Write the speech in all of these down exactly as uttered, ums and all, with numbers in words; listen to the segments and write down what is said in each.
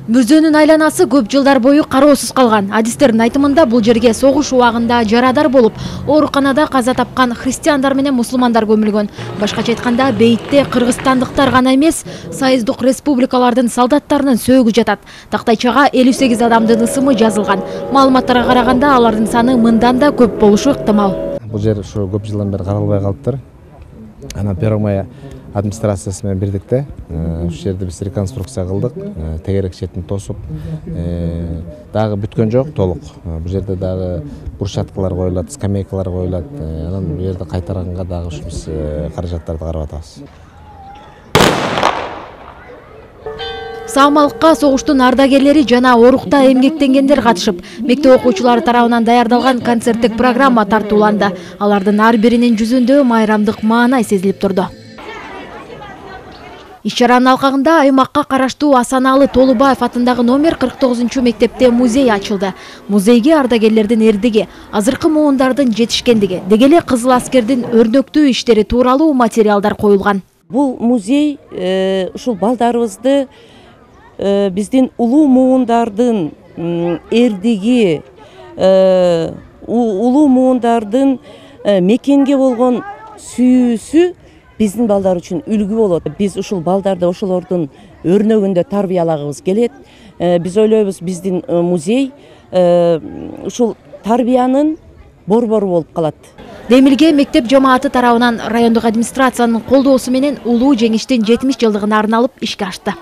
Мүрзөнүн айланасы көп жылдар бою кароосуз калган. Адистердин айтымында бул жерге согуш убагында жарадар болуп, ооруканада каза тапкан христиандар менен мусулмандар көмүлгөн. Башкача айтканда, бейитте кыргызстандыктар гана эмес, союздук республикалардын солдаттарынын сөөгү жатат. Тактайчага элүү сегиз адамдын ысымы жазылган. Маалыматтарга караганда, алардын саны мындан да көп болушу ыктымал. Бул жер ушу көп жылдан бери каралбай калыптыр. Анан Первомай администрациясы менен бирдикте ушул жерди биз реконструкция кылдык, тегерек четин тосуп, дагы бүткөн жок толук. Бул жерде дагы брусчаткалар коюлат, скамейкалар коюлат. Анан бул жерди кайтаранга дагы ушу биз каражаттарды карап атабыз. Саамалыкка согуштун ардагерлери жана оорукта эмгектенгендер катышып, мектеп окуучулары тарабынан даярдалган концерттик программа тартууланды. Алардын ар биринин жүзүндө майрамдык маанай сезилип турду. Иш-чаранын алкагында аймакка караштуу Асаналы Толубаев атындагы номер кырк тогузунчу мектепте музей ачылды. Музейге ардагерлердин эрдиги, азыркы муундардын жетишкендиги, деги эле Кызыл аскердин өрнөктүү иштери тууралуу материалдар коюлган. Бул музей ушул балдарыбызды биздин улуу муундардын эрдиги, улуу муундардын мекенге болгон сүйүүсү биздин балдар үчүн үлгү болот. Биз ушул балдарды ошолордун өрнөгүндө тарбиялагыбыз келет. Биз ойлойбуз, биздин музей ушул тарбиянын борбору болуп калат. Демилге мектеп жамааты тарабынан райондук администрациянын колдоосу менен улуу жеңиштин жетимиш жылдыгына арналып ишке ашты.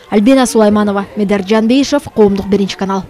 Альбина Сулайманова, Медер Жанбейшев, Коомдук биринчи канал.